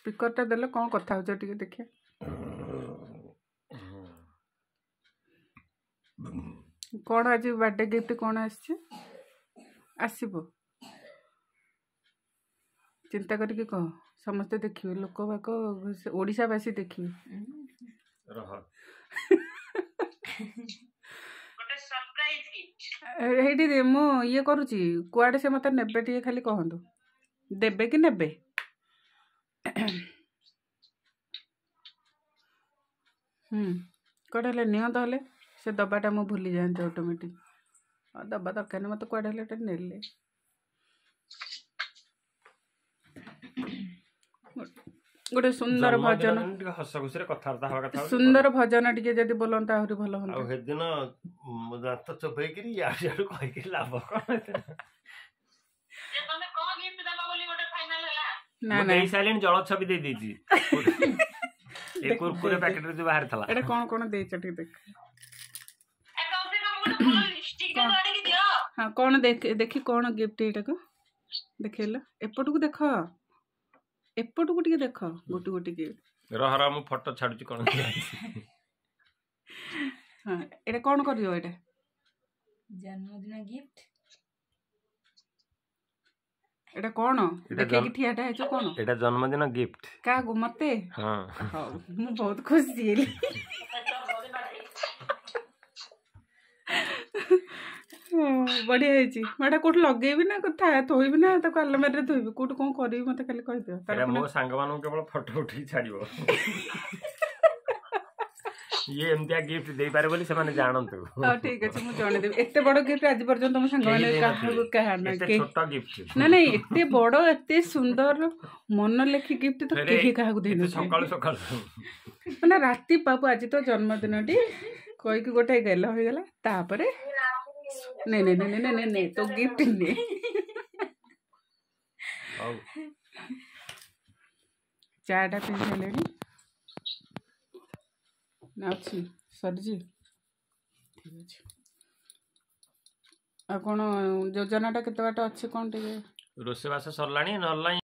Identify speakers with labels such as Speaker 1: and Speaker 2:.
Speaker 1: ସ୍ପିକରଟା ଦେଲେ କ'ଣ କଥା ହଉଛ ଟିକେ ଦେଖିବା। କ'ଣ ଆଜି ବାର୍ଥଡେ ଗିଫ୍ଟ କ'ଣ ଆସିଛି? ଆସିବ, ଚିନ୍ତା କରିକି କହ, ସମସ୍ତେ ଦେଖିବେ, ଲୋକ ବାକ ଓଡ଼ିଶାବାସୀ ଦେଖିବେ। ଏଇଠି ମୁଁ ଇଏ କରୁଛି, କୁଆଡ଼େ ସେ ମୋତେ ନେବେ ଟିକେ ଖାଲି କହନ୍ତୁ, ଦେବେ କି ନେବେ? ହୁଁ କୁଆଡ଼େ ହେଲେ ନିଅନ୍ତ, ହେଲେ ସେ ଦବାଟା ମୁଁ ଭୁଲି ଯାଆନ୍ତି ଅଟୋମେଟିକ୍। ଦବା ଦରକାର ନାହିଁ ମୋତେ, କୁଆଡ଼େ ହେଲେ ଏଟା ନେଲେ। ଗୋଟେ ସୁନ୍ଦର ଭଜନ,
Speaker 2: ହସ ଖୁସିରେ କଥାବାର୍ତ୍ତା ହବା କଥା,
Speaker 1: ସୁନ୍ଦର ଭଜନ ଟିକେ ଯଦି ବୋଲନ୍ତା ଆହୁରି ଭଲ ହୁଅନ୍ତା।
Speaker 2: ଆଉ ସେଦିନ ଦାନ୍ତ ଚୋବେଇକିରି ଇଆଡୁ ସିଆଡୁ କହିକିରି ଲାଭ କଣ?
Speaker 1: ନା ନା,
Speaker 2: ଦେଇ ସାରିଲିଣି, ଜଳ ଛବି ଦେଇ ଦେଇଛି ଏ କୁରକୁରେ ପ୍ୟାକେଟରେ ଯୋଉ ବାହାରିଥିଲା।
Speaker 1: ଏଟା କଣ କଣ ଦେଇଛ ଟିକେ ଦେଖ। ହଁ କଣ ଦେଖି କଣ ଗିଫ୍ଟ ଏଇଟାକୁ ଦେଖେଇଲ, ଏପଟକୁ ଦେଖ, ଏପଟକୁ ଟିକେ ଦେଖ, ଗୋଟେ ଗୋଟେ କି
Speaker 2: ରହ ରହ, ମୁଁ ଫଟୋ ଛାଡୁଛି କଣ।
Speaker 1: ହଁ ଏଇଟା କଣ କରିବ? ଏଇଟା
Speaker 3: ଜନ୍ମଦିନ ଗିଫ୍ଟ।
Speaker 1: ଏଇଟା କଣ ଦେଖେଇକି ଠିଆଟା ହେଇଛ କଣ?
Speaker 2: ଏଇଟା ଜନ୍ମଦିନ ଗିଫ୍ଟ।
Speaker 1: କାହାକୁ? ମତେ?
Speaker 2: ହଁ।
Speaker 1: ହଉ, ମୁଁ ବହୁତ ଖୁସି ହେଲି, ବଢିଆ ହେଇଛି। ମୁଁ ଏଇଟା କୋଉଠି ଲଗେଇବି ନା କଥା ଥୋଇବି ନା ତାକୁ ଆଲମାରିରେ ଥୋଇବି, କୋଉଠି କଣ କରିବି ମତେ ଖାଲି କହିଦିଅ।
Speaker 2: ମୋ ସାଙ୍ଗମାନଙ୍କୁ କେବଳ ଫଟୋ ଉଠେଇକି ଛାଡିବ, ଇଏ ଏମିତିଆ ଗିଫ୍ଟ ଦେଇପାରେ ବୋଲି ସେମାନେ ଜାଣନ୍ତୁ।
Speaker 1: ହଉ ଠିକ ଅଛି, ମୁଁ ଜଣେଇଦେବି। ଏତେ ବଡ ଗିଫ୍ଟ ଆଜି ପର୍ଯ୍ୟନ୍ତ ମୋ ସାଙ୍ଗମାନେ କାହାକୁ କାହା ନା
Speaker 2: ଛୋଟ ଗିଫ୍ଟ
Speaker 1: ନା ନାଇଁ, ଏତେ ବଡ ଏତେ ସୁନ୍ଦର ମନ ଲେଖି ଗିଫ୍ଟ ତ କେହି କାହାକୁ ଦେଇନଥିଲେ।
Speaker 2: ସକାଳୁ ସକାଳୁ
Speaker 1: ମାନେ ରାତି ପାବୁ ଆଜି ତ ଜନ୍ମଦିନଟି କହିକି ଗୋଟେ ଗେଲ ହେଇଗଲା, ତାପରେ ନେ ନେ ନେ ନେ ନେ ନେ ତୋ ଗିଫ୍ଟ ନେ। ଚାଟା ପିଇ ସାରିଲେଣି ନା ଅଛି? ସରିଛି, ଠିକ୍ ଅଛି। ଆଉ କ'ଣ ଯୋଜନାଟା କେତେ ବାଟ ଅଛି କ'ଣ ଟିକେ?
Speaker 2: ରୋଷେଇବାସ ସରିଲାଣି ନହେଲେ